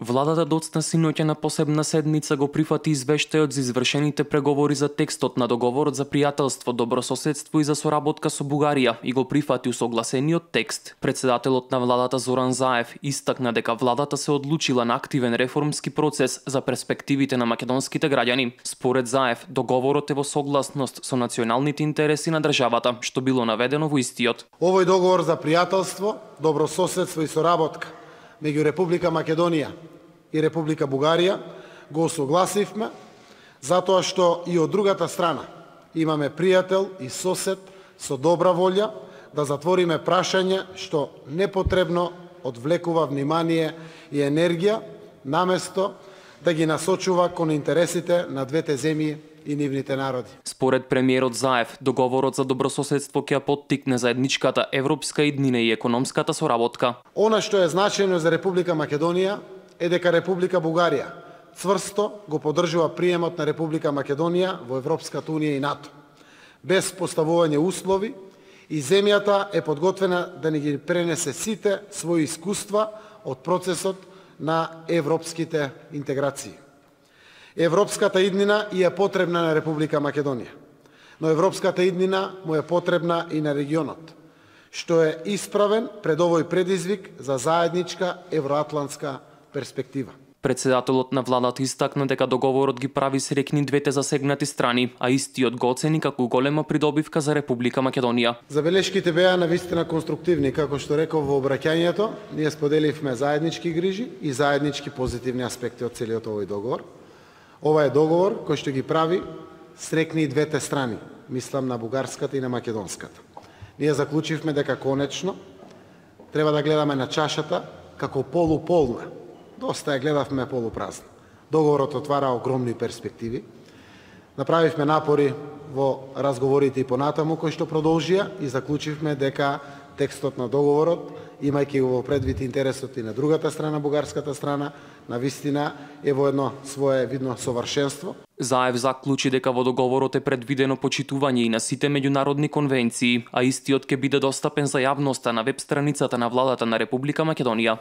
Владата доцна синоќа на посебна седница го прифати извештајот за извршените преговори за текстот на договорот за пријателство, добрососедство и за соработка со Бугарија и го прифати усогласениот текст. Председателот на владата Зоран Заев истакна дека владата се одлучила на активен реформски процес за перспективите на македонските граѓани. Според Заев, договорот е во согласност со националните интереси на државата, што било наведено во истиот. Овој договор за пријателство, добрососедство и соработка меѓу Република Македонија и Република Бугарија го согласивме затоа што и од другата страна имаме пријател и сосед со добра волја да затвориме прашање што непотребно одвлекува внимание и енергија наместо да ги насочува кон интересите на двете земји и нивните народи. Според премиерот Заев, договорот за добрососедство ќе поттикне заедничката европска иднина и економската соработка. Она што е значајно за Република Македонија е дека Република Бугарија цврсто го поддржува приемот на Република Македонија во Европската унија и НАТО, без поставување услови, и земјата е подготвена да ни ги пренесе сите своји искуства од процесот на европските интеграции. Европската иднина и е потребна на Република Македонија, но европската иднина му е потребна и на регионот, што е исправен пред овој предизвик за заедничка евроатлантска перспектива. Председателот на владата истакна дека договорот ги прави среќни двете засегнати страни, а истиот го оцени како голема придобивка за Република Македонија. Забелешките беа навистина конструктивни, како што реков во обраќањето, ние споделивме заеднички грижи и заеднички позитивни аспекти од целиот овој договор. Ова е договор кој што ги прави среќни и двете страни, мислам на бугарската и на македонската. Ние заклучивме дека конечно треба да гледаме на чашата како полуполна. Доста ја гледавме полупразна. Договорот отвара огромни перспективи. Направивме напори во разговорите и понатаму кои што продолжија и заклучивме дека текстот на договорот, имајќи го во предвид интересот и на другата страна, бугарската страна, навистина е во едно свое видно совршенство. Заев заклучи дека во договорот е предвидено почитување и на сите меѓународни конвенции, а истиот ќе биде достапен за јавноста на веб страницата на владата на Република Македонија.